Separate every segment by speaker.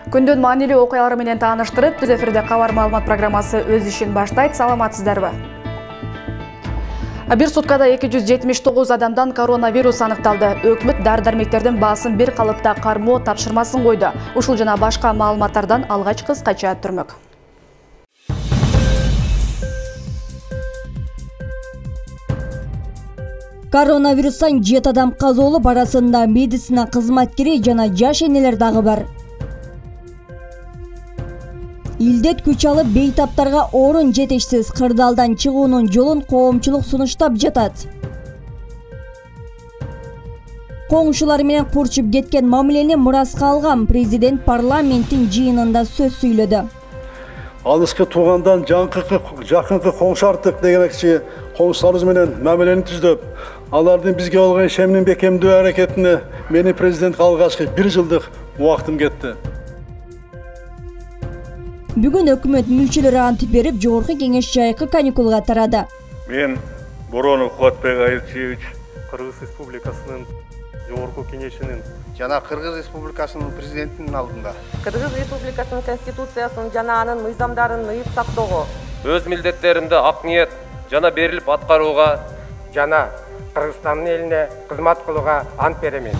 Speaker 1: Күндүн маанилүү окуялары менен тааныштырып, түз эфирде кабар маалымат программасы өз ишин баштайт. Саламатсыздарбы? Бир суткада 279 адамдан коронавирус аныкталды. Өкмөт дары-дармектердин баасын бир калыпта кармоо тапшырмасын койду. Ушул жана башка маалыматтардан алгач кыскача түрмөк.
Speaker 2: Коронавирустан 7 адам каза болуп, арасында медицина кызматкери жана жаш энелер дагы бар. Илдет күч алып, бейтаптарга орун жетишсиз кырдаалдан чыгуунун жолун коомчулук сунуштап жатат. Коңшулары менен курчуп кеткен мамилени мураска алган президент парламенттин жыйынында сөз сүйлөдү.
Speaker 3: Алыскы туугандан жакынкы коңшартык дегенекчи коңшуларыбыз менен мамилени түздөп, алардын бизге болгон ишенимин бекемдөө аракетине мени президент калгачкы 1 жылдык убактым кетти.
Speaker 2: Бүгүн өкмөт мүчөлөрү ант берип, жогорку кеңеш жайкы каникулга тарады.
Speaker 4: Мен Боронов Кубатбек Айылчевич, Кыргыз Республикасынын жогорку кеңешинин
Speaker 5: жана Кыргыз Республикасынын президентинин алдында
Speaker 6: Кыргыз Республикасынын конституциясын жана анын мыйзамдарын ыйып сактоого,
Speaker 7: өз милдеттеримди ак ниет жана берилип аткарууга
Speaker 8: жана Кыргызстандын элине кызмат кылууга ант беремин.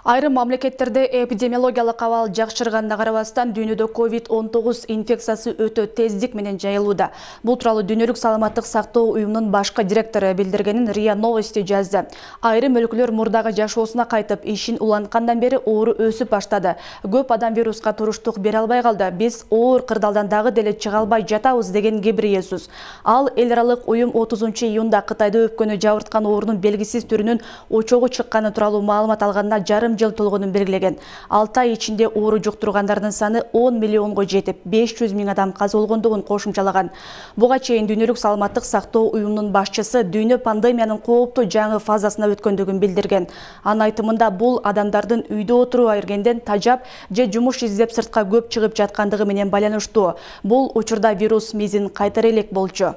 Speaker 1: Айрым мамлекеттерде эпидемиологиялык абал жакшырганына карабастан дүйнөдө COVID-19 инфекциясы өтө тездик менен жайылууда. Бул тууралуу Дүйнөлүк саламаттык сактоо уюмунун башкы директору билдиргенин РИА Новости жазды. Айрым өлкөлөр мурдагы жашоосуна кайтып, ишин уланткандан бери оору өсүп баштады. Көп адам вируска туруштук бере албай калды. Биз оор кырдаалдан дагы деле чыга албай жатабыз деген Гебриесус. Ал эл аралык уюм 30-июнда Кытайда өпкөнү жабырткан оорунун белгисиз түрүнүн очогу чыкканы тууралуу маалымат алганына жарым жыл толгонун белгилеген. 6 ай ичинде оору жуктургандардын саны 10 миллионго жетип, 500 миң адам каза болгондугун кошумчалаган. Буга чейин Дүйнөлүк саламаттык сактоо уюмунун башчысы дүйнө пандемиянын кооптуу жаңы фазасына өткөндүгүн билдирген. Анын айтымында бул адамдардын үйдө отуруп бергенден тажап же жумуш издеп сыртка көп чыгып жаткандыгы менен байланыштуу. Бул учурда вирус мизин кайтара элек болчу.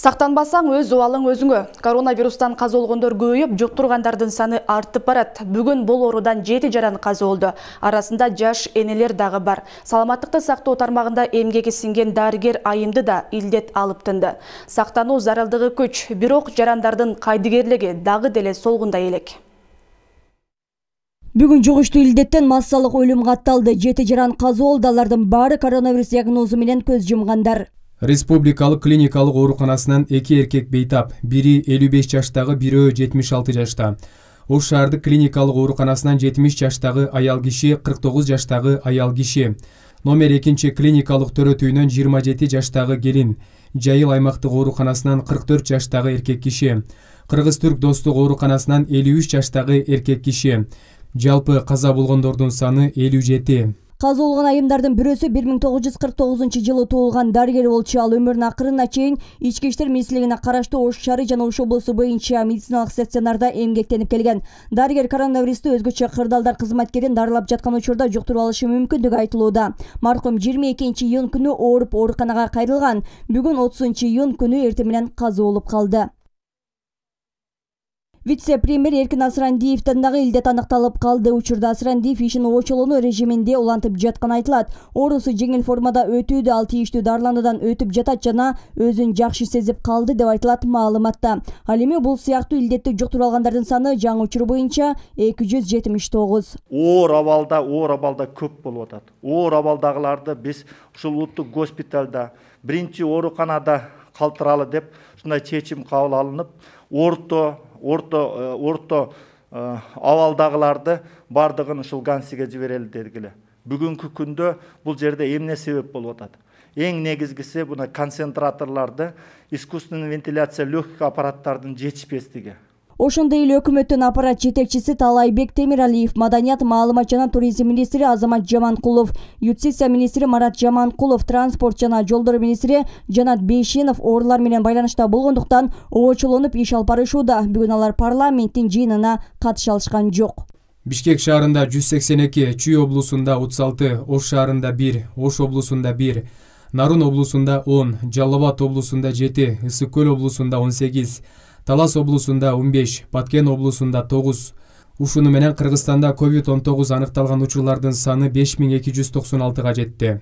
Speaker 1: Сактанбасаң өз убалың өзүңө. Коронавирустан каза болгондор көбөйүп, жуктургандардын саны артып барат. Бүгүн бул оорудан 7 жаран каза болду. Арасында жаш энелер дагы бар. Саламаттыкты сактоо тармагында эмгеги сиңген дарыгер айымды да илдет алып тынды. Сактануу зарылдыгы күч, бирок жарандардын кайдыгерлиги дагы деле солгундай элек.
Speaker 2: Бүгүн жугуштуу илдеттен массалык өлүм катталды. 7 жаран каза болду, алардын баары коронавирус диагнозу менен көз жумгандар.
Speaker 9: Республикалык клиникалык ооруканасынан 2 эркек бейтап, бири 55 жаштагы, бирөө 76 жашта. Ош шаардык клиникалык ооруканасынан 70 жаштагы аял киши, 49 жаштагы аял киши. Номер 2 клиникалык төрөтүүнөн 27 жаштагы келин. Жайыл аймактык ооруканасынан 44 жаштагы эркек киши. Кыргыз-түрк достук ооруканасынан 53 жаштагы эркек киши. Жалпы каза болгондордун саны 57.
Speaker 2: Каза болгон айымдардын бирөөсү 1949-жылы туулган дарыгер болчу. Ал өмүрүнүн акырына чейин ички иштер министрлигине караштуу Ош шаары жана Ош облусу боюнча медициналык стационарда эмгектенип келген. Дарыгер коронавирусту өзгөчө кырдаалдар кызматкерин дарылап жаткан учурда жуктуруп алышы мүмкүндүгү айтылууда. Маркум 22-июнь күнү ооруп ооруканага кайрылган. Бүгүн 30-июнь күнү эртең менен каза болуп калды. Вице-премьер Эркин Асырандиевден дагы илдет аныкталып калды. Учурда Асырандиев ишин очолонуу режиминде улантып жатканы айтылат. Оорусу жеңил формада өтүүдө, ал тийиштүү дарылануудан өтүп жатат жана өзүн жакшы сезип калды деп айтылат маалыматта. Ал эми бул сыяктуу илдетти жуктуруп алгандардын саны жаңы учур боюнча 279.
Speaker 10: Оор абалда көп болуп атат. Оор абалдагыларды биз ушул улуттук госпиталда, биринчи ооруканада калтыралы деп ушундай чечим кабыл алынып, орто абалдагыларды бардыгын ушул Гансиге жиберели дегиле. Бүгүнкү күндө бул жерде эмне себеп болуп атат? Эң негизгиси буна концентраторларды, искусственный вентиляция легких аппараттардын жетишпестиги.
Speaker 2: Ошондой эле өкмөттүн аппарат жетекчиси Талайбек Темиралиев, маданият, маалымат жана туризм министри Азамат Жаманкулов, юстиция министри Марат Жаманкулов, транспорт жана жолдор министри Жанат Бейшенов оорулар менен байланышта болгондуктан очолонуп иш алып барышууда. Бүгүн алар парламенттин жыйынына катыша алышкан жок.
Speaker 9: Бишкек шаарында 182, Чүй облусунда 36, Ош шаарында 1, Ош облусунда 1, Нарын облусунда 10, Жалал Абад облусунда 7, Ысык Көл облусунда 18, Талас облусунда 15, Баткен облусунда 9. Ушуну менен Кыргызстанда COVID-19 аныкталган учурлардын саны 5296-га жетти.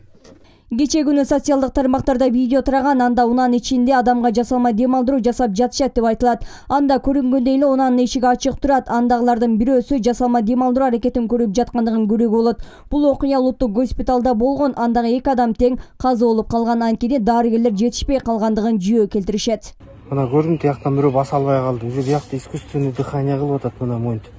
Speaker 2: Кече күнү социалдык тармактарда видео тараган, анда унаанын ичинде адамга жасалма дем алдыруу жасап жатышат деп айтылат. Анда көрүнгөндөй эле унаанын эшиги ачык турат. Андагылардын бирөөсү жасалма дем алдыруу аракетин көрүп жаткандыгын көрүүгө болот. Бул окуя улуттук госпиталда болгон. Андагы 2 адам тең каза болуп калган, анткени дарыгерлер жетишпей калгандыгын жүйө келтиришет.
Speaker 11: Мына көрдүм, тияктан бирөө баса албай калды. Уже биякта искусственный дыхание кылып атат, мына моинтип.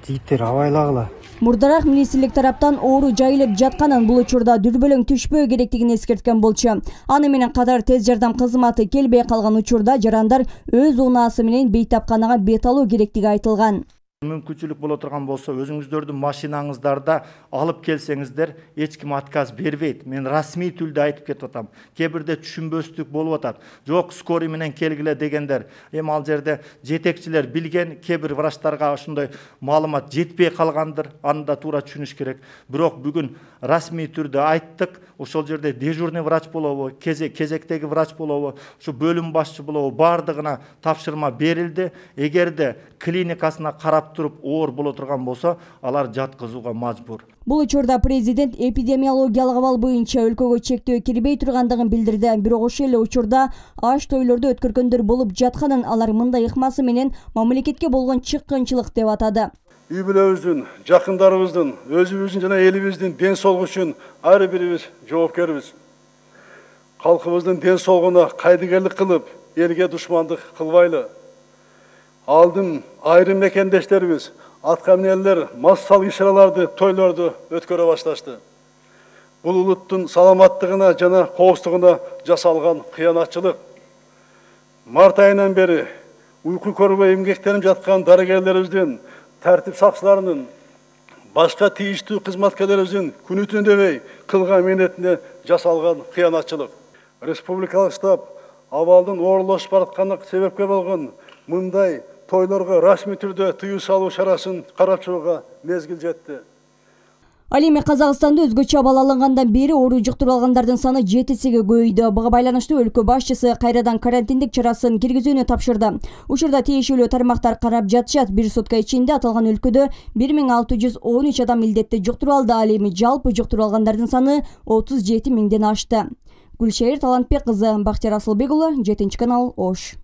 Speaker 11: Жигиттер абайлагыла.
Speaker 2: Мурдараак министрлик тараптан оору жайылып жатканын, бул учурда дүрбөлөң түшпөө керектигин эскерткен болчу. Аны менен катар тез жардам кызматы келбей калган учурда жарандар өз унаасы менен бейтапканага бет алуу керектиги айтылган.
Speaker 10: Мүмкүнчүлүк боло турган болсо, өзүңүздөрдүн машинаңыздарда алып келсеңиздер, эч ким отказ бербейт. Мен расмий түрдө айтып кетип атам. Кээ бирде түшүнбөстүк болуп атат. Жок, скорый менен келгиле дегендер. Эми ал жерде жетекчилер билген, кээ бир врачтарга ошондой маалымат жетпей калгандыр. Аны да туура түшүнүш керек. Бирок бүгүн расмий түрдө айттык. Ошол жерде дежурный врач болобу, кезектеги врач болобу, ушу бөлүм башчы болобу, бардыгына тапшырма берилди. Эгерде клиникасына карап туруп оор боло турган болсо, алар жаткызууга мажбур.
Speaker 2: Бул учурда президент эпидемиологиялык абал боюнча өлкөгө чектөө кирбей тургандыгын билдирди. Бирок ошол эле учурда аш тойлорду өткөргөндөр болуп жатканын алар мындай ыкмасы менен мамлекетке болгон чыккынчылык деп атады.
Speaker 3: Үй бүлөбүздүн, жакындарыбыздын, өзүбүздүн жана элибиздин ден соолугу үчүн ар бирибиз жоопкербиз. Калкыбыздын ден соолугуна кайдыгерлик кылып, элге душмандык кылбайлы. Алдын айрым мекендештерибиз, аткаминерлер массалык иш-чараларды, тойлорду өткөрө башташты. Бул улуттун саламаттыгына жана коопсуздугуна жасалган кыянатчылык. Март айынан бери уйку көрбөй эмгектенип жаткан дарыгерлерибиздин, тартип сакчыларынын, башка тийиштүү кызматкерлерибиздин күнү түнү дебей кылган мээнетине жасалган кыянатчылык. Республикалык штаб абалдын оорлошуп баратканына себепкер болгон мындай тойлорго расмий түрдө тыюу салуу чарасын карап чыгууга мезгил жетти.
Speaker 2: Ал эми Казакстанда өзгөчө абал алынгандан бери оору жуктуруп алгандардын саны 7-ге көбөйдү. Буга байланыштуу өлкө башчысы кайрадан карантиндик чарасын киргизүүнү тапшырды. Учурда тиешелүү тармактар карап жатышат. Бир сутка ичинде аталган өлкөдө 1613 адам илдетти жуктуруп алды. Ал эми жалпы жуктуруп алгандардын саны 37 миңден ашты. Гүлшайыр Талантбек кызы, Бактияр Асылбек уулу, 7 Ош.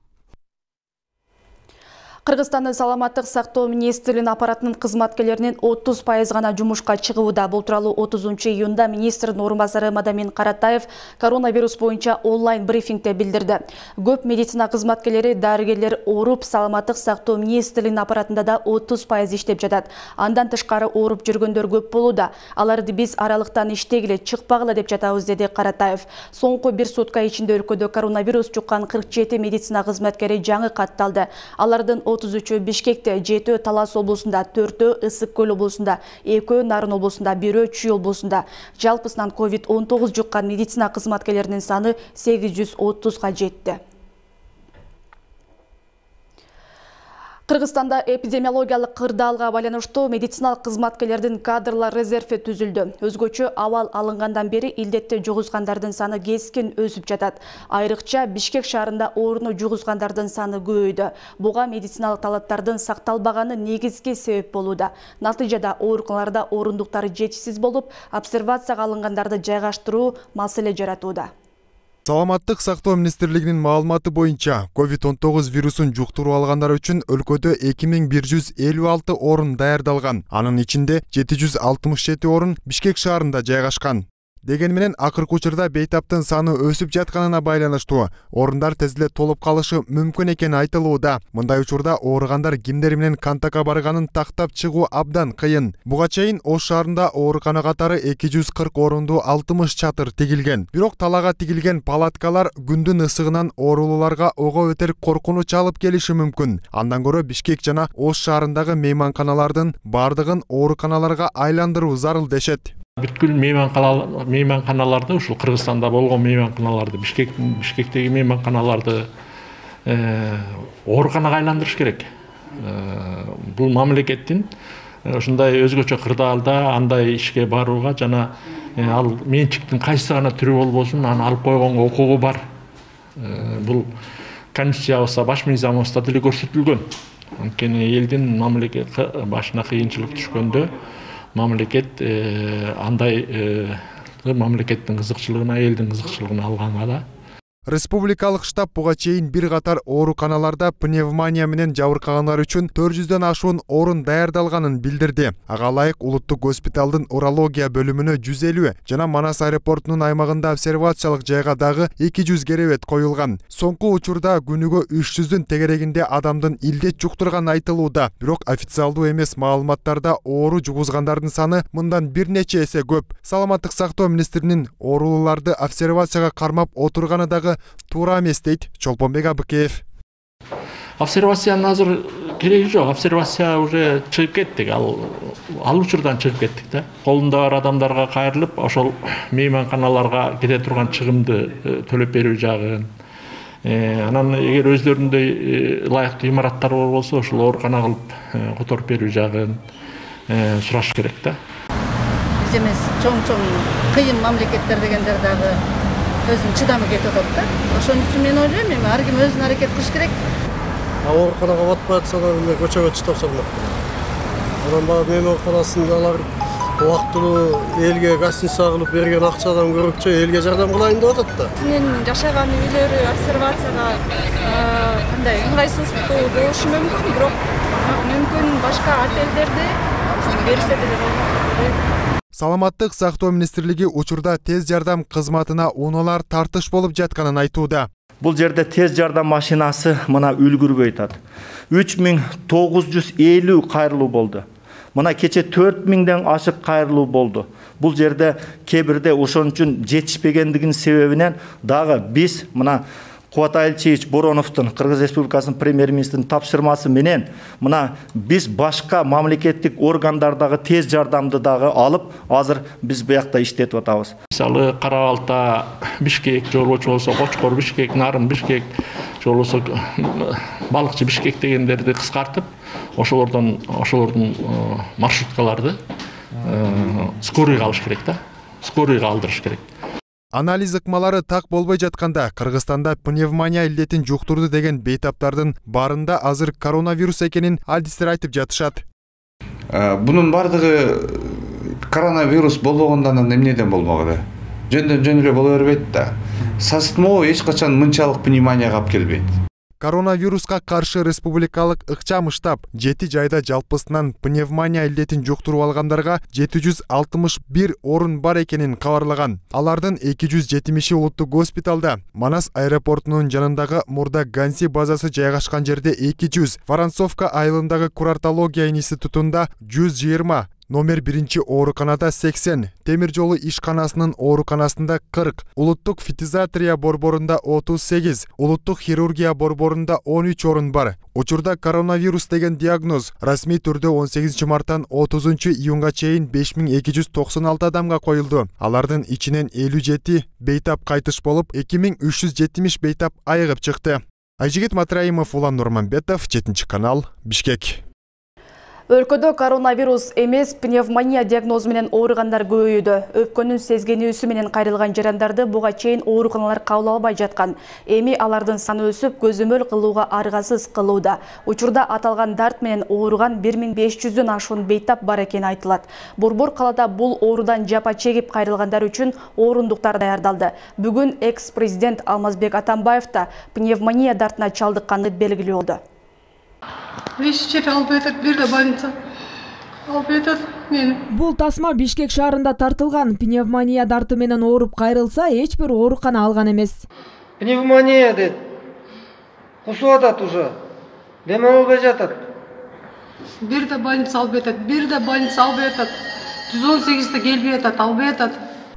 Speaker 1: Кыргызстандын саламаттык сактоо министрлигинин аппаратынын кызматкерлеринин 30% гана жумушка чыгууда. Бул тууралуу 30-июнда министрдин орун басары Мадамин Каратаев коронавирус боюнча онлайн брифингде билдирди. Көп медицина кызматкерлери, дарыгерлер ооруп, саламаттык сактоо министрлигинин аппаратында да 30% иштеп жатат. Андан тышкары ооруп жүргөндөр көп болууда. Аларды биз аралыктан иштегиле, чыкпагыла деп жатабыз, деди Каратаев. Соңку бир сутка ичинде өлкөдө коронавирус жуккан 47 медицина кызматкери жаңы катталды. Алардын 33-ü Бишкекте, 7-ü Талас облусунда, 4-ü Ысык Көл облусунда, 2-ü Нарын облусунда, 1-ü Чүй облусунда. Жалпысынан COVID-19 жуккан медицина кызматкерлеринин саны 830-га жетти. Кыргызстанда эпидемиологиялык кырдаалга байланыштуу медициналык кызматкерлердин кадрлар резерви түзүлдү. Өзгөчө абал алынгандан бери илдетти жугузгандардын саны кескин өсүп жатат. Айрыкча Бишкек шаарында ооруну жугузгандардын саны көбөйдү. Буга медициналык талаптардын сакталбаганы негизги себеп болууда. Натыйжада ооруканаларда орундуктар жетишсиз болуп, обсервацияга алынгандарды жайгаштыруу маселе жаратууда.
Speaker 12: Саламаттык сактоо министрлигинин маалыматы боюнча, COVID-19 вирусун жуктуруп алгандар үчүн өлкөдө 2156 орун даярдалган. Анын ичинде 767 орун Бишкек шаарында жайгашкан. Деген менен акыркы учурда бейтаптын саны өсүп жатканына байланыштуу орундар тез эле толуп калышы мүмкүн экени айтылууда. Мындай учурда ооругандар кимдер менен контактка барганын тактап чыгуу абдан кыйын. Буга чейин Ош шаарында оорукана катары 240 орунду 60 чатыр тигилген. Бирок талаага тигилген палаткалар күндүн ысыгынан оорулууларга ого өтер коркунуч алып келиши мүмкүн. Андан көрө Бишкек жана Ош шаарындагы мейманканалардын бардыгын ооруканаларга айландыруу зарыл дешет.
Speaker 13: Бүткүл мейманканаларды, ушул Кыргызстанда болгон мейманканаларды, Бишкектеги мейманканаларды ооруканага айландырыш керек. Бул мамлекеттин ушундай өзгөчө кырдаалда андай ишке барууга жана ал менчиктин кайсы гана түрү болбосун аны алып койгонго укугу бар. Бул конституциябызда, баш мыйзамыбызда деле көрсөтүлгөн. Анткени элдин мамлекет башына кыйынчылык түшкөндө мамлекет андай мамлекеттин кызыкчылыгына, элдин кызыкчылыгына алганга да.
Speaker 12: Республикалык штаб буга чейин бир катар ооруканаларда пневмония менен жабыркагандар үчүн 400дөн ашуун орун даярдалганын билдирди. Ага ылайык улуттук госпиталдын урология бөлүмүнө 150 жана Манас аэропортунун аймагында обсервациялык жайга дагы 200 керебет коюлган. Соңку учурда күнүгө 300дүн тегерегинде адамдын илдет жуктурганы айтылууда. Бирок официалдуу эмес маалыматтарда оору жугузгандардын саны мындан бир нече эсе көп. Саламаттык сактоо министринин оорулууларды обсервацияга кармап отурганы дагы туура эмес дейт Чолпонбек Абыкеев.
Speaker 13: Обсервациянын азыр кереги жок. Обсервация уже чыгып кеттик. Ал учурдан чыгып кеттик да. Колунда бар адамдарга кайрылып, ошол мейманканаларга кете турган чыгымды төлөп берүү жагын. Анан эгер өздөрүндөй ылайыктуу имараттар бар болсо, ошол оорукана кылып которуп берүү жагын сураш керек да.
Speaker 14: Биз эмес чоң кыйын мамлекеттер дегендер дагы өзүнүн чыдамы кетип атат да. Ошон үчүн мен ойлойм, ар ким өзүн аракет кылыш керек.
Speaker 3: Ооруканага батпай атса да көчөгө чыдап салмак. Анан баягы мейманканасында алар убактылуу элге гостиница кылып берген акчадан көрөкчө элге жардам кылайын деп атат да.
Speaker 15: Синин жашаган үйлөрү обсервацияга кандай ыңгайсыздуу болушу мүмкүн, бирок мүмкүн башка отелдерде берсе деле болот.
Speaker 12: Саламаттык сактоо министрлиги учурда тез жардам кызматына унаалар тартыш болуп жатканын айтууда.
Speaker 10: Бул жерде тез жардам машинасы мына үлгүрбөй атат. 3950 кайрылуу болду. Мына кече 4000ден ашык кайрылуу болду. Бул жерде кебирде ошон үчүн жетишпегендигинин себебинен дагы биз мына Кубатай Ильичевич Бороновдун, Кыргыз Республикасынын премьер-министринин тапшырмасы менен мына биз башка мамлекеттик органдардагы тез жардамды дагы алып, азыр биз буякта иштетип атабыз.
Speaker 13: Мисалы Кара Балта, Бишкек же болбочу болсо Кочкор Бишкек, Нарын Бишкек же болбосо Балыкчы Бишкек дегендерди кыскартып, ошолордун маршруткаларды скорыйга алыш керек да. Скорыйга алдырыш керек.
Speaker 12: Анализ ыкмалары так болбой жатканда Кыргызстанда пневмония илдетин жуктурду деген бейтаптардын барында азыр коронавирус экенин адистер айтып жатышат.
Speaker 16: Бунун бардыгы коронавирус болбогондан эмнеден болмогу? Жөн эле боло бербейт да. Сасытмоо эч качан мынчалык пневмонияга алып келбейт.
Speaker 12: Коронавируска каршы республикалык ыкчам штаб 7 жайда жалпысынан пневмония илдетин жуктуруп алгандарга 761 орун бар экенин кабарлаган. Алардын 270-и улуттук госпиталда, Манас аэропортунун жанындагы Мурда Ганси базасы жайгашкан жерде 200, Воронцовка айылындагы курортология институтунда 120, номер 1 ооруканада 80, темир жолу ишканасынын ооруканасында 40, улуттук фитизатрия борборунда 38, улуттук хирургия борборунда 13 орун бар. Учурда коронавирус деген диагноз расмий түрдө 18 марттан 30 июнга чейин 5296 адамга коюлду. Алардын ичинен 57 бейтап кайтыш болуп, 2370 бейтап айыгып чыкты. Айжигит Матраимов, Улан Нурманбетов, 7 канал, Бишкек.
Speaker 1: Өлкөдө коронавирус эмес пневмония диагнозу менен ооругандар көбөйүүдө. Өпкөнүн сезгенүүсү менен кайрылган жарандарды буга чейин ооруканалар кабыл албай жаткан. Эми алардын саны өсүп, көзөмөл кылууга аргасыз кылууда. Учурда аталган дарт менен ооруган 1500дөн ашуун бейтап бар экени айтылат. Борбор калада бул оорудан жапа чегип кайрылгандар үчүн орундуктар даярдалды. Бүгүн экс-президент Алмазбек Атамбаев да пневмония дартына чалдыкканы белгилүү болду.
Speaker 17: Вещи алып өтөт, бир да больница алып өтөт мени.
Speaker 18: Бул тасма Бишкек шаарында тартылган. Пневмония дарты менен ооруп кайрылса, эч бир оорукана алган эмес.
Speaker 17: Пневмония дейт. Кусуп атат уже. Дем албай жатат. Бир да больница алып өтөт, бир да больница алып өтөт. 118 келбей атат, албай атат.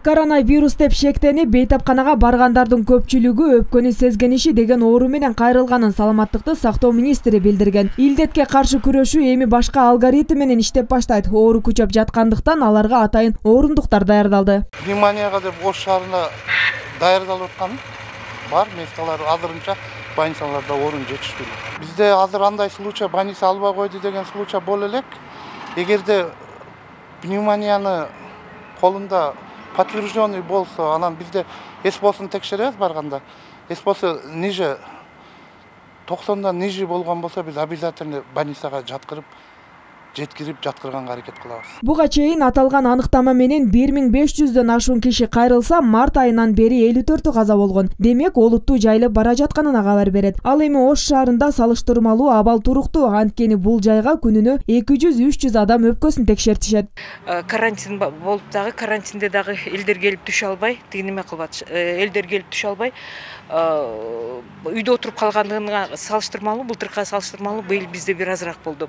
Speaker 18: Коронавирус деп шектенип, бейтапканага баргандардын көпчүлүгү өпкөнү сезгениши деген оору менен кайрылганын саламаттыкты сактоо министри билдирген. Илдетке каршы күрөшүү эми башка алгоритм менен иштеп баштайт. Оору күчөп жаткандыктан аларга атайын орундуктар даярдалды.
Speaker 5: Пневмонияга деп Ош шаарында даярдалып аткан бар, месталар азырынча больницаларда орун жетишпейт. Бизде азыр андай случай больница албай койду деген случай боло элек. Эгерде пневмонияны колунда подтвержденный болсо, анан бизде СПОсын текшеребиз барганда. СПОсы ниже 90-дан ниже болгон болсо биз обязательно больницага жеткирип жаткырганга аракет кылабыз.
Speaker 18: Буга чейин аталган аныктама менен 1500дөн ашуун киши кайрылса, март айынан бери 54 каза болгон. Демек, олуттуу жайылып бара жатканына кабар берет. Ал эми Ош шаарында салыштырмалуу абал туруктуу, анткени бул жайга күнүнө 200-300 адам өпкөсүн текшертишет.
Speaker 19: Карантин болуп дагы, карантинде дагы элдер келип түшө албай, неме кылбат, элдер келип түшө албай, үйдө отуруп калгандыгына салыштырмалуу, былтыркыга салыштырмалуу быйыл бизде бир азыраак болду.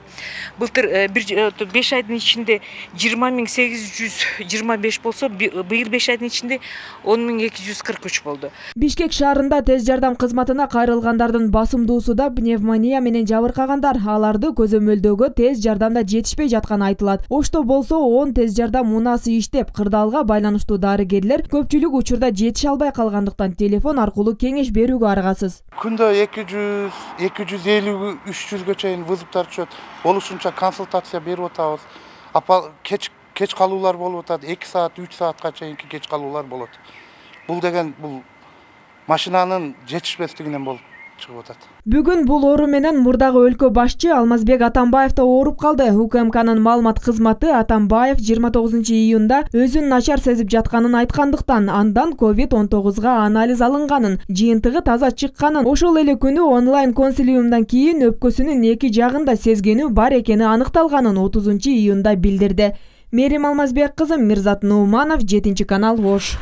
Speaker 19: Былтыр 5 айдын ичинде 20.825 болсо, быйыл 5 айдын ичинде 10.243 болду.
Speaker 18: Бишкек шаарында тез жардам кызматына кайрылгандардын басымдуусу да пневмония менен жабыркагандар. Аларды көзөмөлдөөгө тез жардамда жетишпей жатканы айтылат. Ошто болсо 10 тез жардам унасы иштеп, кырдаалга байланыштуу дарыгерлер көпчүлүк учурда жетише албай калгандыктан телефон аркылуу кеңеш берүүгө аргасыз.
Speaker 5: Күндө 200-250-300га чейин вызовтар түшөт. Болушунча консультация берип атабыз. Кеч калуулар болуп атат, 2 саат, 3 саатка чейинки кеч калуулар болот. Бул деген бул машинанын жетишпестигинен болуп чыгып атат.
Speaker 18: Бүгүн бул оору менен мурдагы өлкө башчы Алмазбек Атамбаев да ооруп калды. УКМКнын маалымат кызматы Атамбаев 29-июнда өзүн начар сезип жатканын айткандыктан, андан COVID-19 анализ алынганын, жыйынтыгы таза чыкканын, ошол эле күнү онлайн консилиумдан кийин өпкөсүнүн эки жагында сезгенүү бар экени аныкталганын 30-июнда билдирди. Мерим Алмазбек кызы, Мирзат Нууманов, 7-канал, Ош.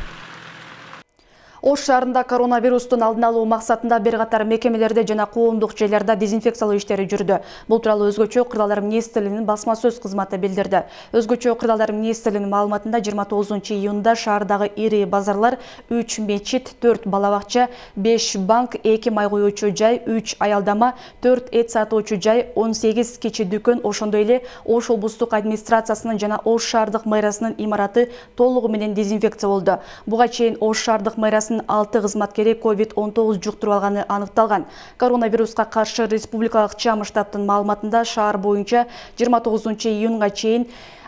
Speaker 1: Ош шаарында коронавирустун алдын алуу максатында бир катар мекемелерде жана коомдук жайларда дезинфекциялоо иштери жүрдү. Бул тууралуу Өзгөчө кырдаалдар министрлигинин басма сөз кызматы билдирди. Өзгөчө кырдаалдар министрлигинин маалыматында 29-июнда шаардагы ири базарлар 3 мечит, 4 бала бакча, 5 банк, 2 май коюучу жай, 3 аялдама, 4 эт сатуучу жай, 18 кичи дүкөн, ошондой эле Ош облустук администрациясынын жана Ош шаардык мэриясынын имараты толугу менен дезинфекция болду. Буга чейин Ош шаардык мэриясынын 6 кызматкери COVID-19 жуктуруп алганы аныкталган. Коронавируска каршы республикалык чам штабтын маалыматында шаар боюнча 29-июнга чейин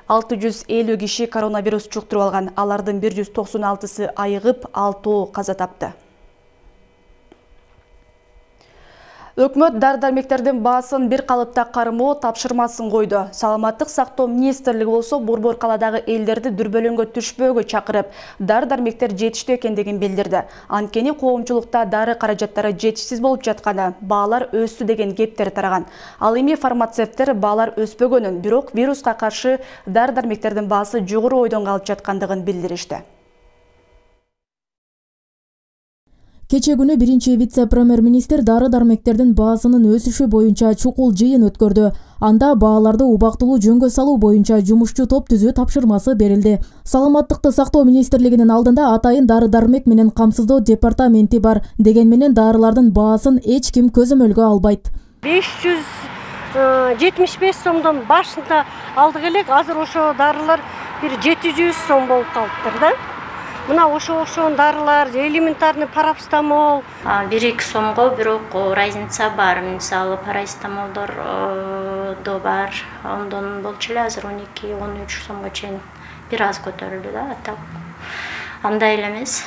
Speaker 1: 650 киши коронавирус жуктуруп алган. Алардын 196-сы айыгып, 6 каза тапты. Өкмөт дары-дармектердин баасын бир калыпта кармоо тапшырмасын койду. Саламаттык сактоо министрлиги болсо борбор каладагы элдерди дүрбөлөңгө түшпөөгө чакырып, дары-дармектер жетиштүү экендигин билдирди. Анткени коомчулукта дары каражаттары жетишсиз болуп жатканы, баалар өстү деген кептер тараган. Ал эми фармацевттер баалар өспөгөнүн, бирок вируска каршы дары-дармектердин баасы жогору ойдон калып жаткандыгын билдиришти.
Speaker 20: Кече күнү биринчи вице-премьер-министр дары-дармектердин баасынын өсүшү боюнча чукул жыйын өткөрдү. Анда бааларды убактылуу жөнгө салуу боюнча жумушчу топ түзүү тапшырмасы берилди. Саламаттыкты сактоо министрлигинин алдында атайын дары-дармек менен камсыздоо департаменти бар. Деген менен дарылардын баасын эч ким көзөмөлгө албайт.
Speaker 21: 575 сомдон башында алдык элек, азыр ошо дарылар бир 700 сом болуп калыптыр да. Мына ошо дарылар, элементарный парацетамол
Speaker 22: 1-2 сомго, бирок разница бар. Мисалы парацетамолдор до бар. Ондон болчу эле азыр 12-13 сомго чейин бир аз көтөрүлдү да. Андай эле эмес.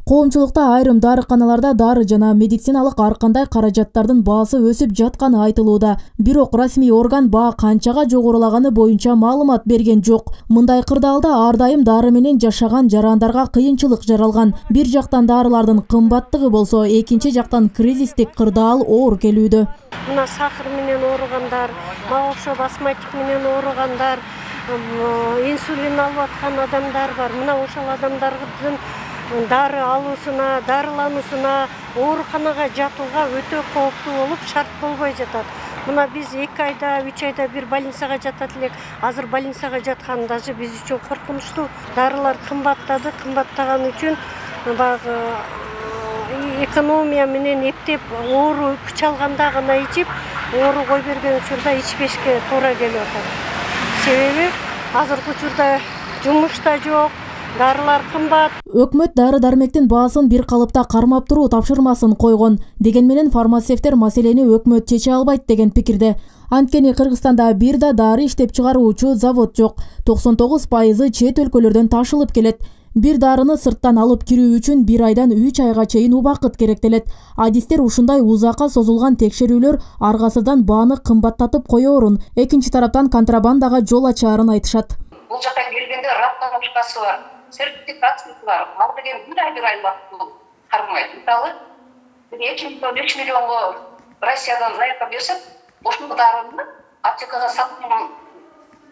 Speaker 20: Коомчулукта айрым дарыканаларда дары жана медициналык ар кандай каражаттардын баасы өсүп жатканы айтылууда. Бирок расмий орган баа канчага жогорулаганы боюнча маалымат берген жок. Мындай кырдаалда ар дайым дары менен жашаган жарандарга кыйынчылык жаралган. Бир жактан дарылардын кымбаттыгы болсо, экинчи жактан кризистик кырдаал оор келүүдө.
Speaker 21: Мына сахар менен ооругандар, мага окшоп астматик менен ооругандар, инсулин алып аткан адамдар бар. Мына ошол адамдардын дары алуусуна, дарылануусуна, ооруканага жатууга өтө кооптуу болуп, шарт болбой жатат. Мына биз 2 айда, 3 айда бир больницага жатат элек. Азыр больницага жаткан даже биз үчүн коркунучтуу. Дарылар кымбаттады, кымбаттаган үчүн баягы экономия менен эптеп оору күч алганда гана ичип, оору кой берген учурда ичпешке туура келип атат. Себеби азыркы учурда жумуш да жок. Дарылар кымбат.
Speaker 20: Өкмөт дары-дармектин баасын бир калыпта кармап туруу тапшырмасын койгон. Деген менен фармацевттер маселени өкмөт чече албайт деген пикирде. Анткени Кыргызстанда бир да дары иштеп чыгаруучу завод жок. 99% чет өлкөлөрдөн ташылып келет. Бир дарыны сырттан алып кирүү үчүн 1 айдан 3 айга чейин убакыт керектелет. Адистер ушундай узакка созулган текшерүүлөр аргасыздан бааны кымбаттатып коёрун, экинчи тараптан контрабандага жол ачаарын айтышат.
Speaker 4: Бул жакка келгенде расстановкасы бар, сертификациясы бар. Ал деген 1 ай убакыт кармайт. Мисалы, 2-3 миллионго Россиядан заявка берсек, ошол дарыны аптекага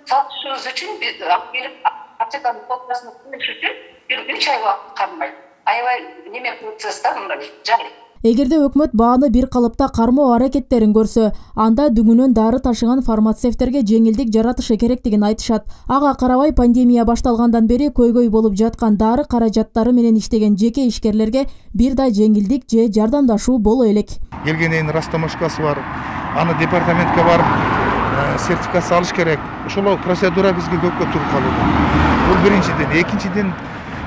Speaker 4: сатышыбыз үчүн алып келип аптеканын коддасын кылыш үчүн 1 ай убакыт кармайт. Аябай неме процесс да мындай жай.
Speaker 20: Эгерде өкмөт бааны бир калыпта кармоо аракеттерин көрсө, анда дүңүнөн дары ташыган фармацевттерге жеңилдик жаратышы керектигин айтышат. Ага карабай пандемия башталгандан бери көйгөй болуп жаткан дары каражаттары менен иштеген жеке ишкерлерге бир да жеңилдик же жардамдашуу боло элек.
Speaker 5: Келгенден растамашкасы бар. Аны департаментке барып сертификация алыш керек. Ошол процедура бизге көпкө туруп калууда. Бул биринчиден, экинчиден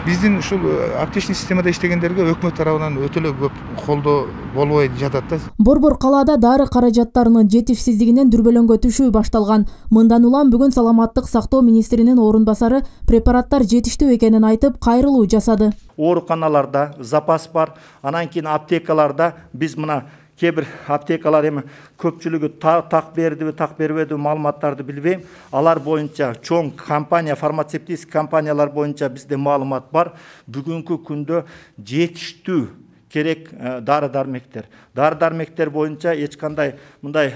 Speaker 5: биздин ушул аптечный системада иштегендерге өкмөт тарабынан өтө эле көп колдоо болбой жатат да.
Speaker 20: Борбор калаада дары каражаттарынын жетишсиздигинен дүрбөлөңгө түшүү башталган. Мындан улам бүгүн саламаттык сактоо министринин орун басары препараттар жетиштүү экенин айтып, кайрылуу жасады.
Speaker 10: Ооруканаларда запас бар, анан кийин аптекаларда биз мына кээ-бир аптекалар эми көпчүлүгү так бердиби, так бербедиби маалыматтарды билбейм. Алар боюнча чоң компания, фармацевтический компаниялар боюнча бизде маалымат бар. Бүгүнкү күндө жетиштүү керек дары-дармектер. Дары-дармектер боюнча эч кандай мындай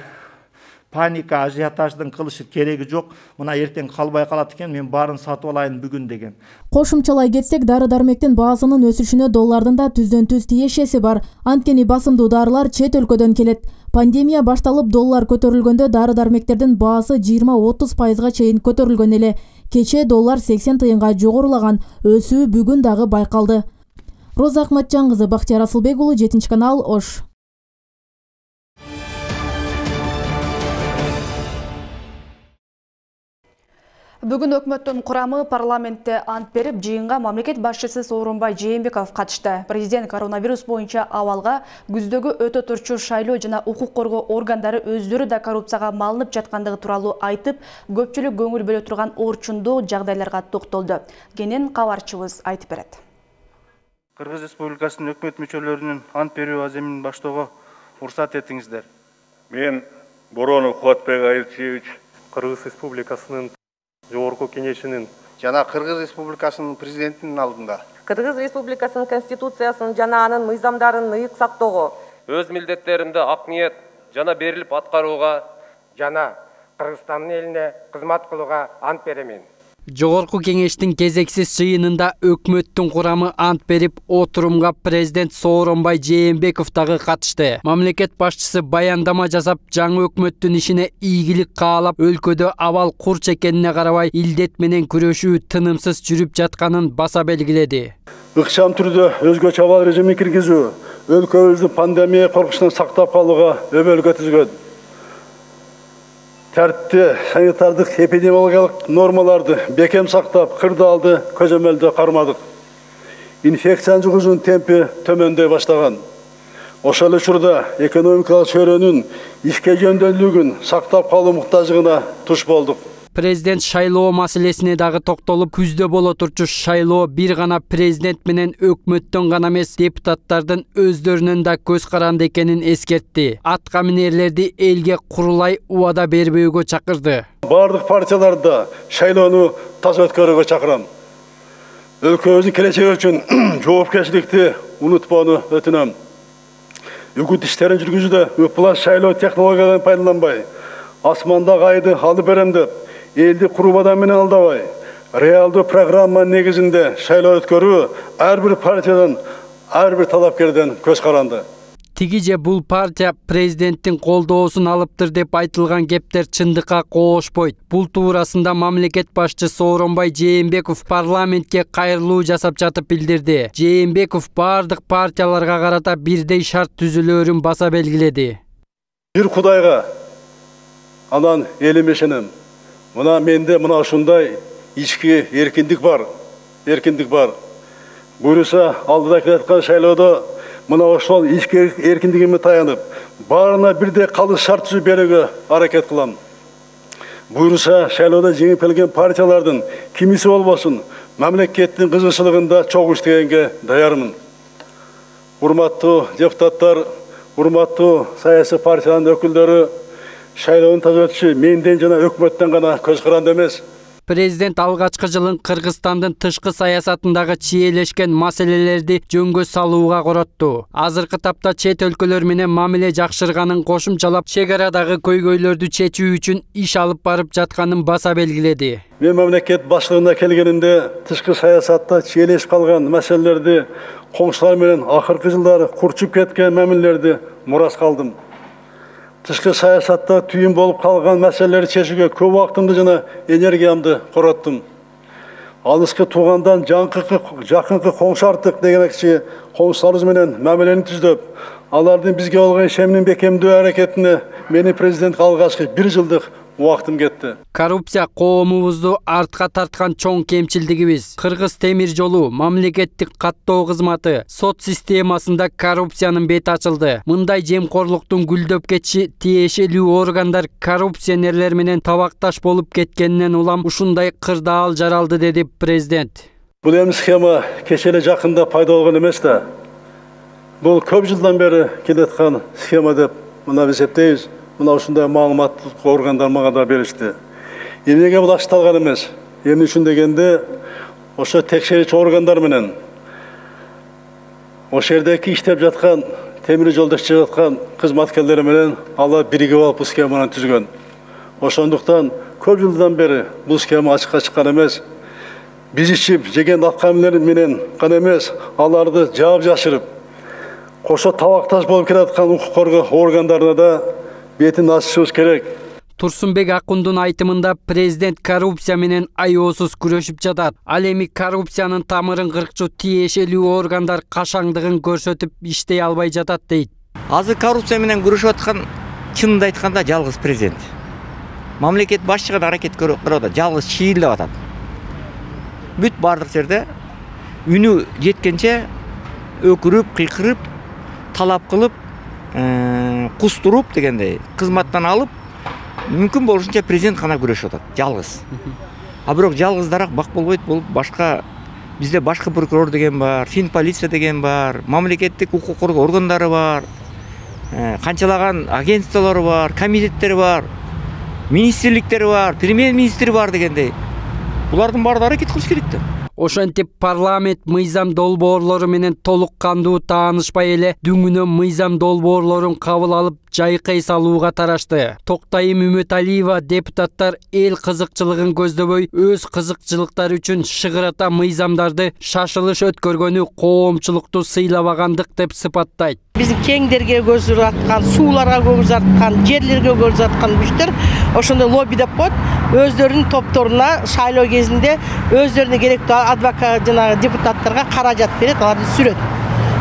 Speaker 10: паника, ажиотаждын кылышы кереги жок. Мына эртең калбай калат экен, мен баарын сатып алайын бүгүн деген.
Speaker 20: Кошумчалай кетсек, дары-дармектин баасынын өсүшүнө доллардын да түздөн-түз тиешеси бар. Анткени басымдуу дарылар чет өлкөдөн келет. Пандемия башталып доллар көтөрүлгөндө дары-дармектердин баасы 20-30% чейин көтөрүлгөн эле. Кече доллар 80 тыйынга жогорулаган. Өсүү бүгүн дагы байкалды. Роза Акматжан кызы, Бактияр Асылбек уулу, 7 канал, Ош.
Speaker 1: Бүгүн өкмөттүн курамы парламентте ант берип, жыйынга мамлекет башчысы Сооронбай Жээнбеков катышты. Президент коронавирус боюнча абалга күздөгү өтө турчу шайлоо жана укук коргоо органдары өздөрү да коррупцияга малынып жаткандыгы тууралуу айтып, көпчүлүк көңүл бөлө турган орчундуу жагдайларга токтолду. Кенен кабарчыбыз айтып берет.
Speaker 6: Кыргыз Республикасынын өкмөт мүчөлөрүнүн ант берүү аземин баштоого уруксат этиңиздер.
Speaker 23: Мен Боронов Кубатбек Айылчевич,
Speaker 24: Кыргыз Республикасынын Жогорку Кеңешинин
Speaker 5: жана Кыргыз Республикасынын президентинин алдында
Speaker 25: Кыргыз Республикасынын Конституциясын жана анын мыйзамдарын ыйык сактоого,
Speaker 7: өз милдеттеримди ак ниет жана берилип аткарууга
Speaker 8: жана Кыргызстандын элине кызмат кылууга ант беремин.
Speaker 26: Жогорку Кеңештин кезексиз жыйынында өкмөттүн курамы ант берип, отурумга президент Сооронбай Жээнбеков дагы катышты. Мамлекет башчысы баяндама жасап, жаңы өкмөттүн ишине ийгилик каалап, өлкөдө абал курч экенине карабай, илдет менен күрөшүү тынымсыз жүрүп жатканын баса белгиледи.
Speaker 3: Ыкчам түрдө өзгөчө абал режимин киргизүү өлкөбүздү пандемия коркучунан сактап калууга өбөлгө түзгөн. Тәртіпті санитардық эпидемиологиялық нормаларды бекем сақтап, кырдаалды көзөмөлдө кармадык. Инфекцияны жугуунун темпи төмөндөй баштаган. Ошол учурда экономикалык чөйрөнүн ишке жөндөмдүүлүгүн сактап калуу муктаждыгына туш болдук.
Speaker 26: Президент шайлоо маселесине дагы токтолуп, күздө боло турчу шайлоо бир гана президент менен өкмөттөн гана эмес, депутаттардын өздөрүнүн да көз каранды экенин эскертти. Атка минерлерди элге курулай убада бербөөгө чакырды.
Speaker 3: Бардык партияларда шайлоону таза өткөрүүгө чакырам. Өлкөбүздүн келечеги үчүн жоопкерчиликти унутпоону өтүнөм. Үгүт иштерин жүргүзүүдө ыплас шайлоо технологияларын пайдаланбай, асмандагы айды алып берем деп, элди курубадан менен алдабай, реалдуу программа негизинде шайлоо өткөрүү ар бир партиядан, ар бир талапкерден көз каранды.
Speaker 26: Тиги же бул партия президенттин колдоосун алыптыр деп айтылган кептер чындыкка коошпойт. Бул туурасында мамлекет башчысы Сооронбай Жээнбеков парламентке кайрылуу жасап жатып билдирди. Жээнбеков бардык партияларга карата бирдей шарт түзүлөөрүн баса белгиледи.
Speaker 3: Бир Кудайга, анан элим ишенем. Мына менде мына ушундай ички эркиндик бар. Буюрса алдыда келаткан шайлоодо мына ошол ички эркиндигиме таянып, баарына бирдей калыс шарт түзүп берүүгө аракет кылам. Буйруса шайлоодо жеңип келген партиялардын кимиси болбосун мамлекеттин кызыкчылыгында чогуу иштегенге даярмын. Урматтуу депутаттар, урматтуу саясий партиянын өкүлдөрү, шайлоонун таза менден жана өкмөттөн гана көз каранды эмес.
Speaker 26: Президент алгачкы жылын Кыргызстандын тышкы саясатындагы чиелешкен маселелерди жөнгө салууга коротту. Азыркы тапта чет өлкөлөр менен мамиле жакшырганын кошумчалап, чек арадагы көйгөйлөрдү чечүү үчүн иш алып барып жатканын баса белгиледи.
Speaker 3: Мен мамлекет баштыгына келгенимде тышкы саясатта чиелешип калган маселелерди, коңшулар менен акыркы жылдары курчуп кеткен мамилелерди мурас калдым. Тышкы саясатта түйүн болуп калган маселелерди чечүүгө көп убактымды жана энергиямды короттум. Алыскы туугандан жакынкы коңшу артык дегенекчи коңшуларыбыз менен мамилени түздөп, алардын бизге болгон ишенимин бекемдөө аракетине мени президент алгачкы 1 жылдык убактым кетти.
Speaker 26: Коррупция коомубузду артка тарткан чоң кемчилдигибиз. Кыргыз темир жолу, мамлекеттик каттоо кызматы, сот системасында коррупциянын бети ачылды. Мындай жемкорлуктун гүлдөп кетиши тиешелүү органдар коррупционерлер менен табакташ болуп кеткенинен улам ушундай кырдаал жаралды, деди президент.
Speaker 3: Бул эми схема кече эле жакында пайда болгон эмес да. Бул көп жылдан бери келаткан схема деп мына эсептейбиз. Мына ушундай маалыматтык органдар мага да беришти. Эмнеге бул ашталган эмес? Эмне үчүн дегенде, ошо текшерүүчү органдар менен ошол жердеги иштеп жаткан, темир жолдо иштеп жаткан кызматкерлер менен алар биригип алып бул схеманы түзгөн. Ошондуктан көп жылдан бери бул схема ачыкка чыккан эмес. Биз ичип жеген аккамилер менен гана эмес, аларды жаап жашырып, кошо табакташ болуп келаткан укук коргоо органдарына да бетин ачышыбыз керек.
Speaker 26: Турсунбек Акундун айтымында президент коррупция менен аеосуз күрөшүп жатат. Ал эми коррупциянын тамырын кыркчу тиешелүү органдар кашаңдыгын көрсөтүп иштей албай жатат дейт.
Speaker 2: Азыр коррупция менен күрөшүп аткан чынында айтканда жалгыз президент. Мамлекет башчыга аракет көрүп атат, жалгыз чийилдеп атат. Бүт бардык жерде үнү жеткенче өкүрүп, кыйкырып, талап кылып, кустуруп дегендей кызматтан алып, мүмкүн болушунча президент гана күрөшүп атат, жалгыз. А бирок жалгыздараак бак болбойт, бул башка бизде башкы прокурор деген бар, фин полиция деген бар, мамлекеттик укук коргоо органдары бар, канчалаган агентстволор бар, комитеттер бар, министрликтер бар, премьер-министр бар дегендей. Булардын баары аракет кылыш керек да.
Speaker 26: Ошентип парламент мыйзам долбоорлору менен толук кандуу таанышпай эле дүңүнөн мыйзам долбоорлорун кабыл алып жайкай салууга тарашты. Токтайым Үмөталиева депутаттар эл кызыкчылыгын көздөбөй, өз кызыкчылыктары үчүн шыгырата мыйзамдарды шашылыш өткөргөнү коомчулукту сыйлабагандык деп сыпаттайт.
Speaker 9: Биздин кеңдерге көз аткан, сууларга көз аткан, жерлерге көз аткан күчтөр ошондой лобби деп коет. Өздөрүнүн топторуна шайлоо кезинде өздөрүнө керектүү адвокат жана депутаттарга каражат берет, аларды сүрөт.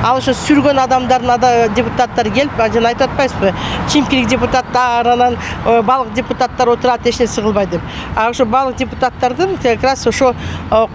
Speaker 9: Ал ошо сүргөн адамдардын депутаттар келип, жана айтып атпайсызбы? Чимкирик депутаттар, анан балык депутаттар отурат, эч нерсе кылбайт деп. А ошо балык депутаттардын как раз ошо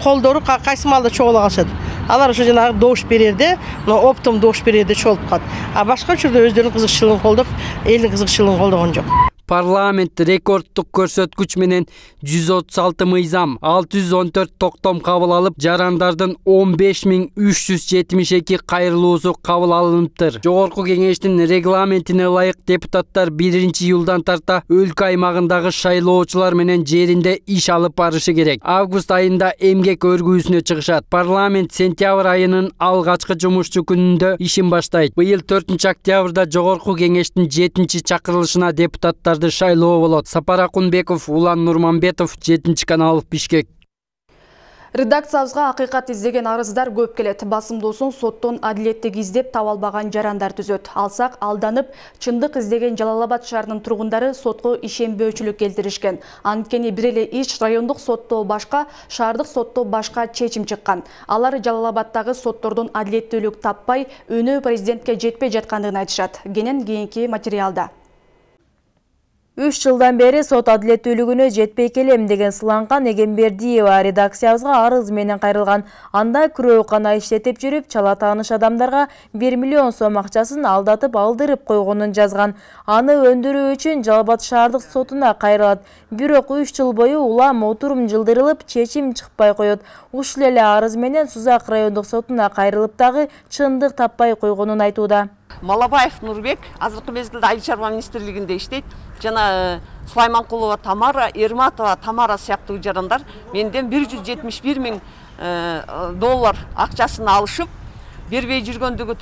Speaker 9: колдору кайсы маалда чогула калышат. Алар ошо жанагы добуш берерде, оптом добуш берерде чогулуп калат. А башка учурда өздөрүнүн кызыкчылыгын колдоп, элдин кызыкчылыгын колдогон жок.
Speaker 26: Парламент рекордтук көрсөткүч менен 136 мыйзам, 614 токтом кабыл алып, жарандардын 15372 кайрылуусу кабыл алыныптыр. Жогорку кеңештин регламентине ылайык депутаттар 1-июлдан тарта өлкө аймагындагы шайлоочулар менен жеринде иш алып барышы керек. Август айында эмгек өргүүсүнө чыгышат. Парламент сентябрь айынын алгачкы жумушчу күнүндө ишин баштайт. Быйыл 4 октябрда жогорку кеңештин 7-чакырылышына депутаттар шайлоо болот. Сапар Акунбеков, Улан Нурманбетов, 7 канал, Бишкек.
Speaker 1: Редакциябызга акыйкат издеген арыздар көп келет. Басымдуусун соттон адилеттик издеп таба албаган жарандар түзөт. Алсак, алданып, чындык издеген Жалал Абад шаарынын тургундары сотко ишенбөөчүлүк келтиришкен. Анткени бир эле иш райондук сотто башка, шаардык сотто башка чечим чыккан. Алар Жалал Абаддагы соттордун адилеттүүлүк таппай, өнөө президентке жетпей жаткандыгын айтышат. Кенен кийинки материалда.
Speaker 11: 3 жылдан бери сот адилеттүүлүгүнө жетпей келем деген Сыланган Эгембердиева редакциябызга арыз менен кайрылган. Анда күрөөгана иштетип жүрүп, чала тааныш адамдарга 1 миллион сом акчасын алдатып алдырып койгонун жазган. Аны өндүрүү үчүн Жалал Абад шаардык сотуна кайрылат. Бирок 3 жыл бою улам отурум жылдырылып, чечим чыкпай коет. Ушул эле арыз менен Сузак райондук сотуна кайрылып дагы чындык таппай койгонун айтууда.
Speaker 12: Малабаев Нурбек азыркы мезгилде Айыл чарба министрлигинде иштейт. Жана Сулайманкулова Тамара, Эрматова Тамара сыяктуу жарандар менден 171 000 доллар акчасын алышып, бербей жүргөндүгү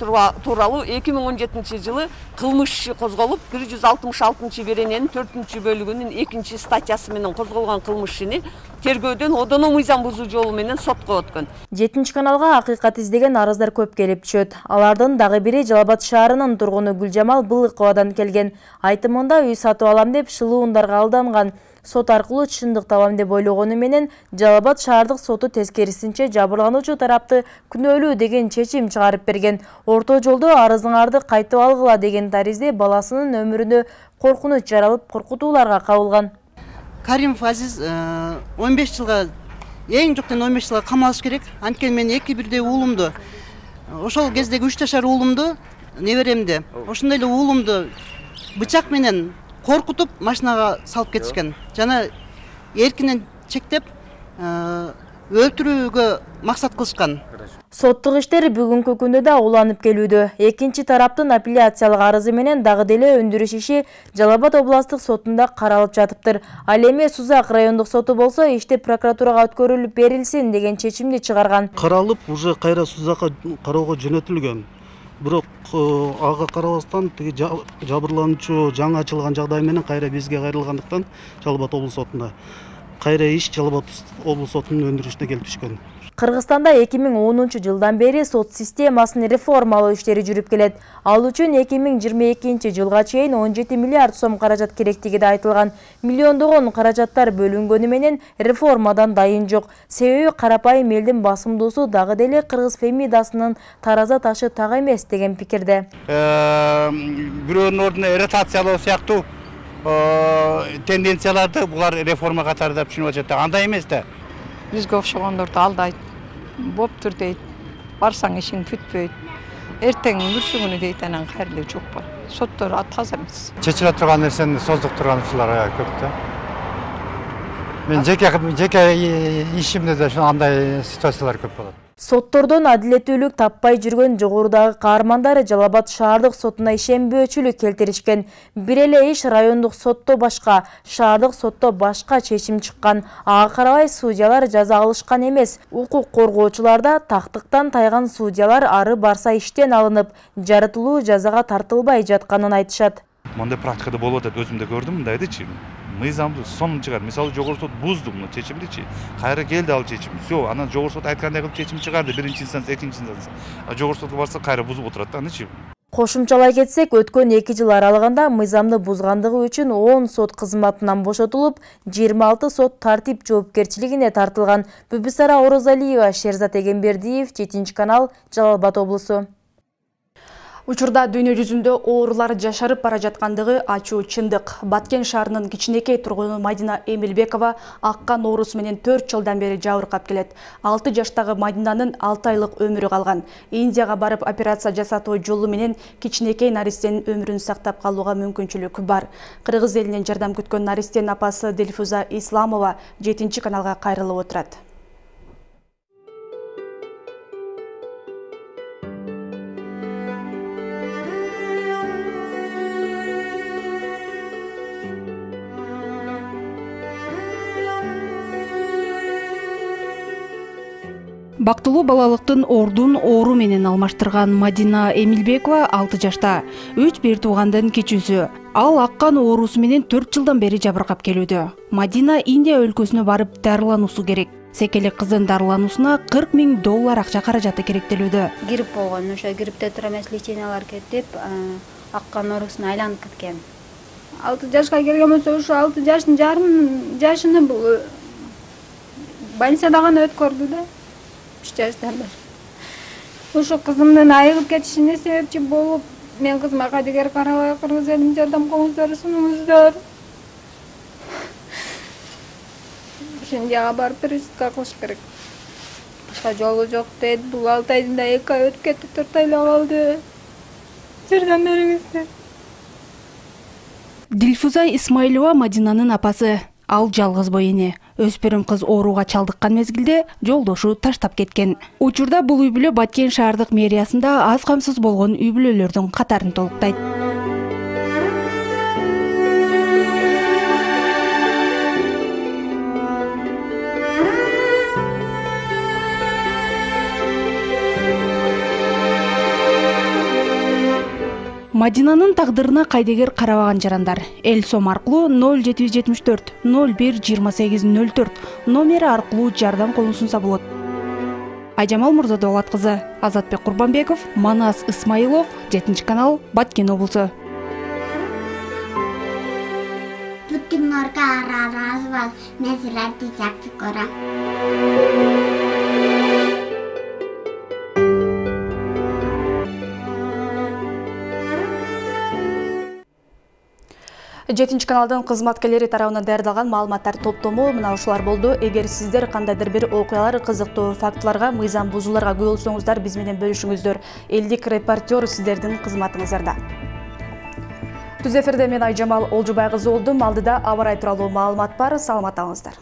Speaker 12: тууралуу 2017 жылы кылмыш иши козголуп, 166 берененин 4-бөлүгүнүн 2-статьясы менен козголгон кылмыш ишини тергөөдөн одоно мыйзам бузуу жолу менен сотко өткөн.
Speaker 11: 7-каналга акыйкат издеген арыздар көп келип түшөт. Алардын дагы бири Жалал Абад шаарынын тургуну Гүлжамал Былыковадан келген. Айтымында үй сатып алам деп шылуундарга алданган. Сот аркылуу чындык табам деп ойлогону менен Жалал Абад шаардык соту тескерисинче жабырлануучу тарапты күнөөлүү деген чечим чыгарып берген. Орто жолдо арызыңарды кайтып алгыла деген таризде баласынын өмүрүнө коркунуч жаралып, коркутууларга кабылган.
Speaker 13: Каримов Азиз 15 жылга, эң жоктон 15 жылга камалыш керек. Анткени мен 2 бирдей уулумду, ошол кездеги 3 жашар уулумду, неберемди, ошондой эле уулумду бычак менен коркутуп машинага салып кетишкен. Жана эркинен чектеп өлтүрүүгө максат кылышкан.
Speaker 11: Соттук иштер бүгүнкү күндө да уланып келүүдө. Экинчи тараптын апелляциялык арызы менен дагы деле өндүрүш иши Жалал Абад областык сотунда каралып жатыптыр. Ал эми Сузак райондук соту болсо ишти прокуратурага өткөрүлүп берилсин деген чечимди чыгарган.
Speaker 14: Каралып, уже кайра Сузакка кароого жөнөтүлгөн. Бирок ага карабастан тиги жабырлануучу жаңы ачылган жагдай менен кайра бизге кайрылгандыктан Жалал Абад облус сотунда кайра иш Жалал Абад облус сотунун өндүрүшүнө келип түшкөн.
Speaker 11: Кыргызстанда 2010 жылдан бери сот системасын реформалоо иштери жүрүп келет. Ал үчүн 2022 жылга чейин 17 миллиард сом каражат керектиги да айтылган. Миллиондогон каражаттар бөлүнгөнү менен реформадан дайын жок. Себеби карапайым элдин басымдуусу дагы деле кыргыз фемидасынын тараза ташы так эмес деген пикирде.
Speaker 15: Бирөөнүн ордуна ротациялоо сыяктуу тенденцияларды булар реформа катарында түшүнүп атышат. Андай эмес да.
Speaker 16: Бизге окшогондорду алдайт, боптур дейт, барсаң ишиң бүтпөйт, эртең бүрсүгүнү дейт, анан кайрылуу жок бар. Соттор таза эмес.
Speaker 15: Чечиле турган нерсени создуктурган ушулар көп да. Мен жеке ишимде да андай ситуациялар көп болот.
Speaker 11: Соттордон адилеттүүлүк таппай жүргөн жогорудагы каармандар Жалал Абад шаардык сотуна ишенбөөчүлүк келтиришкен. Бир эле иш райондук сотто башка, шаардык сотто башка чечим чыккан. Ага карабай судьялар жаза алышкан эмес. Укук коргоочуларда тактыктан тайган судьялар ары барса иштен алынып, жарытылуу жазага тартылбай жатканын айтышат.
Speaker 27: Мондай практикада болуп атат, өзүм да көрдүм мындайдычы. Мыйзамды сонун чыгар. Мисалы жогорку сот бузду муну чечимдичи. Кайра келди ал чечим. Всё, анан жогорку сот айткандай кылып чечим чыгарды. Биринчи инстанция, экинчи инстанция. А жогорку сотко барса кайра бузуп отурат да, анычы.
Speaker 11: Кошумчалай кетсек, өткөн 2 жыл аралыгында мыйзамды бузгандыгы үчүн 10 сот кызматынан бошотулуп, 26 сот тартип жоопкерчилигине тартылган. Бүбүсара Орозалиева, Шерзат Эгембердиев, 7 канал, Жалал Абад облусу.
Speaker 1: Учурда дүйнө жүзүндө оорулар жашарып бара жаткандыгы ачуу чындык. Баткен шаарынын кичинекей тургуну Мадина Эмилбекова аккан оорусу менен 4 жылдан бери жабыркап келет. 6 жаштагы Мадинанын 6 айлык өмүрү калган. Индияга барып операция жасатуу жолу менен кичинекей наристенин өмүрүн сактап калууга мүмкүнчүлүк бар. Кыргыз элинен жардам күткөн наристенин апасы Дилфуза Исламова 7 каналга кайрылып отурат.
Speaker 28: Бактылуу балалыктын ордун оору менен алмаштырган Мадина Эмилбекова 6 жашта, 3 бир туугандын кичүүсү. Ал аккан оорусу менен 4 жылдан бери жабыркап келүүдө. Мадина Индия өлкөсүнө барып дарылануусу керек. Секелек кыздын дарылануусуна $40 000 акча каражаты керектелүүдө.
Speaker 22: Грипп болгон, ошо гриппте тура эмес лечениялар кетип, аккан оорусуна айланып кеткен. 6 жашка келген болсо, ошо 6 жашыны бул больницада гана өткөрдү да. 3 жаштан бери. Ошо кызымдын айыгып кетишине себепчи болуп, мен кызыма кадегер карабай, кыргыз элине жардам колуңуздар, сунуңуздар.
Speaker 4: ошондойга барып перевозка кылыш керек. Башка жолу жок дейт. Бул 6 айында 2 ай өтүп кетти, 4 айлап калды. Жардам бериңиздер.
Speaker 28: Дилфуза Исмаилова Мадинанын апасы. Ал жалгыз бой эне. Өспүрүм кыз ооруга чалдыккан мезгилде жолдошу таштап кеткен. Учурда бул үй бүлө Баткен шаардык мэриясында аз камсыз болгон үй бүлөлөрдүн катарын толуктайт. Мадинанын тагдырына кайдыгер карабаган жарандар эл сом аркылуу 0774 01 2804 номери аркылуу жардам колун сунса болот. Айжамал Мурзадолат кызы, Азатбек Курбанбеков, Манас Исмаилов, 7-канал, Баткен облусу.
Speaker 6: Bütün orga araz var, mesela diyecektik ora.
Speaker 1: Жетинчи каналдын кызматкерлери тарабынан даярдалган маалыматтар топтому мына ушулар болду. Эгер сиздер кандайдыр бир окуялар, кызыктуу фактыларга, мыйзам бузууларга күбө болсоңуздар, биз менен бөлүшүңүздөр. Элдик репортер сиздердин кызматыңыздарда. Түз эфирде мен Айжамал Олжубай кызы болдум. Алдыда аба ырайы тууралуу маалымат бар. Саламат болуңуздар.